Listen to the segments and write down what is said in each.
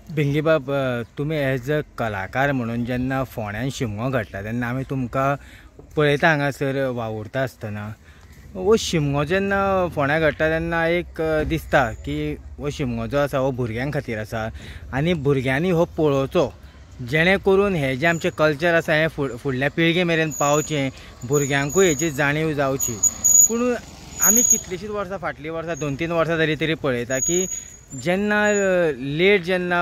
भिंगीबाब, तुमी as a कलाकार म्हणून जेन्ना फोंड्यान शिमगो घडटा तेन्ना आमी तुमकां पळयता हांगासर वावुरता आसतना. हो शिमगो जेन्ना फोंड्या घडटा तेन्ना एक दिसता की हो शिमगो जो आसा हो भुरग्यां खातीर आसा आनी भुरग्यांनी हो पळोवचो, जेणे करून हें जें आमचें कल्चर आसा हें फुडल्या पिळगे मेरेन पावचें, भुरग्यांकूय हेची जाणीव जावची. पूण आमी कितलींशींच वर्सां, फाटलीं वर्सां 2-3 वर्सां जालीं तरी पळयता की जेन्ना लेट जेन्ना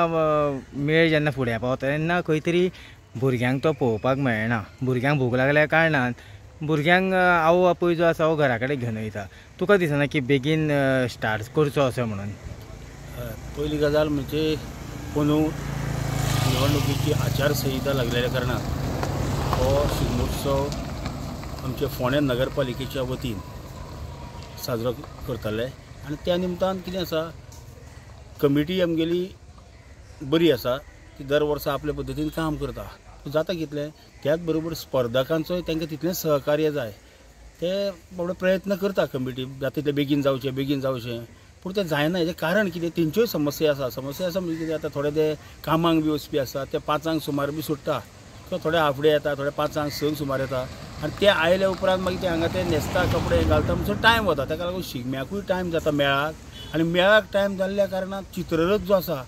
मेळ जेन्ना फुडें पावता तेन्ना खंय तरी भुरग्यांक तो पळोवपाक मेळना. भुरग्यांक भूक लागल्या कारणान भुरग्यांक आवय बापूय जो आसा हो घरा कडेन घेवन वयता. तुका दिसना की बेगीन स्टार्ट करचो अशें म्हणून? पयली गजाल म्हणजे अंदू निवडणुकीची आचारसंहिता लागलेल्या कारणान हो शिगमोत्सव आमच्या फोंड्या नगरपालिकेच्या वतीन साजरो करताले आनी त्या निमतान कितें आसा, कमिटी आमगेली बरी आसा, ती दर वर्सा आपल्या पद्दतीन काम करता. जाता कितलें त्याच बरोबर स्पर्धकांचोय तांकां तितलेंच सहकार्य जाय. ते बाबडे प्रयत्न करता कमिटी जाता तितले बेगीन जावचें बेगीन जावचें, पूण तें जायना. हेजें कारण कितें, तेंच्योय समस्या आसा. समस्या आसा म्हणजे कितें, आतां थोडे ते कामांक बी वचपी आसा, ते 5 सुमार बी सुट्टा, किंवा थोडे हाफ डे येता, थोडे 5 6 सुमार येता आनी ते आयले उपरांत मागीर ते हांगा ते न्हेसता, कपडे घालता, म्हणसर टायम वता. ताका लागून शिगम्याकूय टायम जाता मेळाक, आनी मेळाक टायम जाल्ल्या कारणान चित्ररथ जो आसा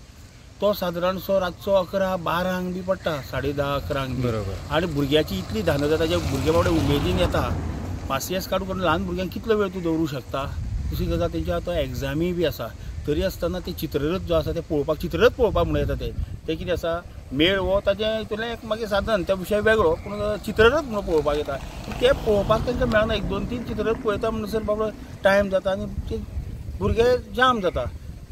तो सादारणसो रातचो 11-12 बी पडटा, 10:30-11 बी. बरोबर. आनी भुरग्याची इतली धान जाता, जे भुरगे बाबडे उमेदीन येता, पासियेंस काडून करून ल्हान भुरग्यांक कितलो वेळ तूं दवरूं शकता. दुसरी गजाल तेंची आतां एग्जामी बी आसा, तरी आसतना ते चित्ररथ जो आसा ते पळोवपाक, चित्ररथ पळोवपाक म्हणून येता. ते ते कितें आसा, मेळ हो ताजें हितूंतलें एक मागीर साधन, त्या विशय वेगळो, पूण चित्ररथ म्हणून पळोवपाक येता, ते पळोवपाक तांकां मेळना. 1-2-3 चित्ररथ पळयता म्हणसर बाबडो टायम जाता आनी ते भुरगे जाम जाता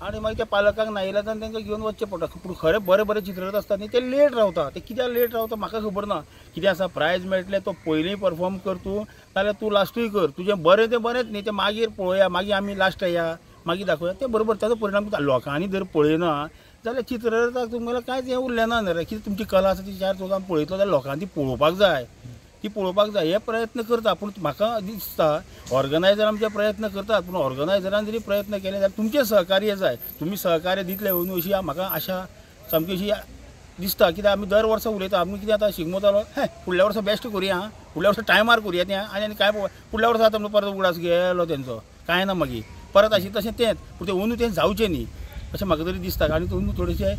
आनी मागीर त्या पालकांक नाइलाजान तांकां घेवन वचचें पडटा. पूण खरें बरें बरें चित्ररथ आसता न्ही ते लेट रावता. ते कित्याक लेट रावता म्हाका खबर ना. कितें आसा, प्रायज मेळटलें तो पयलीं परफॉर्म कर तूं, नाल्यार तूं लास्टूय कर, तुजें बरें तें बरेंच न्ही, तें मागीर पळोवया, मागीर आमी लास्ट या, मागीर दाखोवया, तें बरोबर. ताजो परिणाम लोकांनी जर पळयना जाल्यार चित्ररथाक तुमगेलें कांयच हें उरलें ना न्ही रे. कितें तुमची कला आसा ती 4 चौगां पळयतलो जाल्यार लोकांनी ती पळोवपाक जाय, ती पळोवपाक जाय. हे प्रयत्न करता, पूण म्हाका दिसता ऑर्गनायझर आमचे प्रयत्न करतात, पूण ऑर्गनायझरान जरी प्रयत्न केले जाल्यार तुमचें सहकार्य जाय. तुमी सहकार्य दितले अंदू अशी म्हाका आशा सामकी अशी दिसता. कित्याक आमी दर वर्सा उलयता, आमी कितें आतां शिगमो जालो, हें फुडल्या वर्सा बेस्ट करुया, फुडल्या वर्सा टायमार करुया तें, आनी आनी कांय फुडल्या वर्सा आतां परत उगडास गेलो तेंचो, कांय ना मागीर परत आशिल्लें तशें तेंच. पूण तें अंदू तें जावचें न्ही अशें म्हाका तरी दिसता. आनी अंदू थोडेशें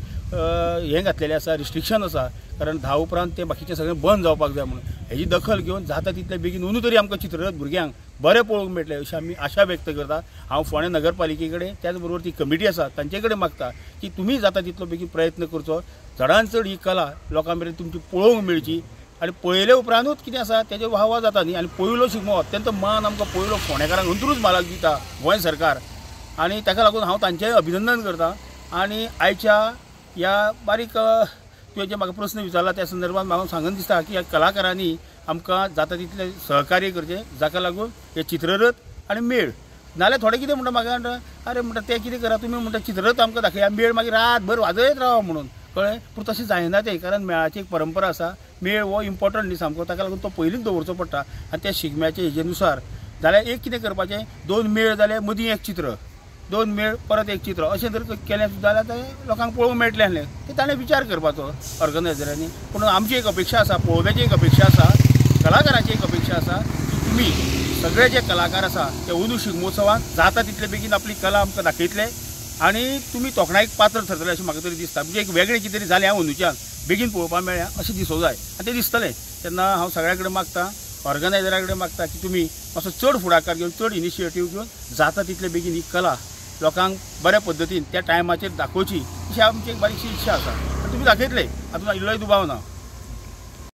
हें घातलेलें आसा, रिस्ट्रिक्शन आसा, कारण 10 उपरांत तें बाकीचें सगळें बंद जावपाक जाय म्हणून. हेजी दखल घेवन जाता तितले बेगीन अंदू तरी आमकां चित्ररथ भुरग्यांक बरें पळोवंक मेळटलें अशी आमी आशा व्यक्त करता. हांव फोंडें नगरपालिके कडेन, त्याच बरोबर ती कमिटी आसा तांचे कडेन मागता की तुमी जाता तितलो बेगीन प्रयत्न करचो, चडान चड ही कला लोकां मेरेन तुमची पळोवंक मेळची. आनी पळयले उपरांतूच कितें आसा तेजे वाहवा जाता न्ही. आनी पयलो शिगमो अत्यंत मान आमकां पयलो फोंडेकारांक अंत्रूज म्हालाक दिता गोंय सरकार, आनी ताका लागून हांव तांचें अभिनंदन करता. आनी आयच्या ह्या बारीक तुवें जे म्हाका प्रस्न विचारला त्या संदर्भात म्हाका सांगून दिसता की ह्या कलाकारांनी आमकां जाता तितलें सहकार्य करचें, जाका लागून हे चित्ररथ आनी मेळ. नाल्यार थोडे कितें म्हणटा म्हाका, म्हणटा अरे म्हणटा तें कितें करा तुमी, म्हणटा चित्ररथ आमकां दाखया, मेळ मागीर रातभर वाजयत रावा म्हणून, कळ्ळें. पूण तशें जायना तें, कारण मेळाची एक परंपरा आसा, मेळ हो इम्पॉर्टंट न्ही सामको, ताका लागून तो पयलींच दवरचो पडटा. आनी त्या शिगम्याचे हेजे नुसार जाल्यार एक कितें करपाचें, 2 मेळ जाल्यार मदीं एक चित्र, 2 मेळ परत एक चित्र, अशें जर केलें जाल्यार तें लोकांक पळोवंक मेळटलें आसलें. तें ताणें विचार करपाचो ऑर्गनायझरांनी. पूण आमची एक अपेक्षा आसा, पळोवप्याची एक अपेक्षा आसा, कलाकाराची एक अपेक्षा आसा की तुमी सगळे जे कलाकार आसा ते अंदू शिगमोत्सवान जाता तितले बेगीन आपली कला आमकां दाखयतले आनी तुमी तोखणायेक पात्र थरतले अशें म्हाका तरी दिसता. म्हणजे एक वेगळें कितें तरी जालें अंदूच्यान बेगीन पळोवपाक मेळ्ळें अशें दिसूंक जाय आनी तें दिसतलें. तेन्ना हांव सगळ्या कडेन मागता, ऑर्गनायझरा कडेन मागता की तुमी मातसो चड फुडाकार घेवन, चड इनिशिएटीव घेवन जाता तितले बेगीन ही कला लोकांक बऱ्या पद्दतीन त्या टायमाचेर दाखोवची अशी आमची एक बारीकशी इच्छा आसा आनी तुमी दाखयतले, हातूंत इल्लोय दुबाव ना.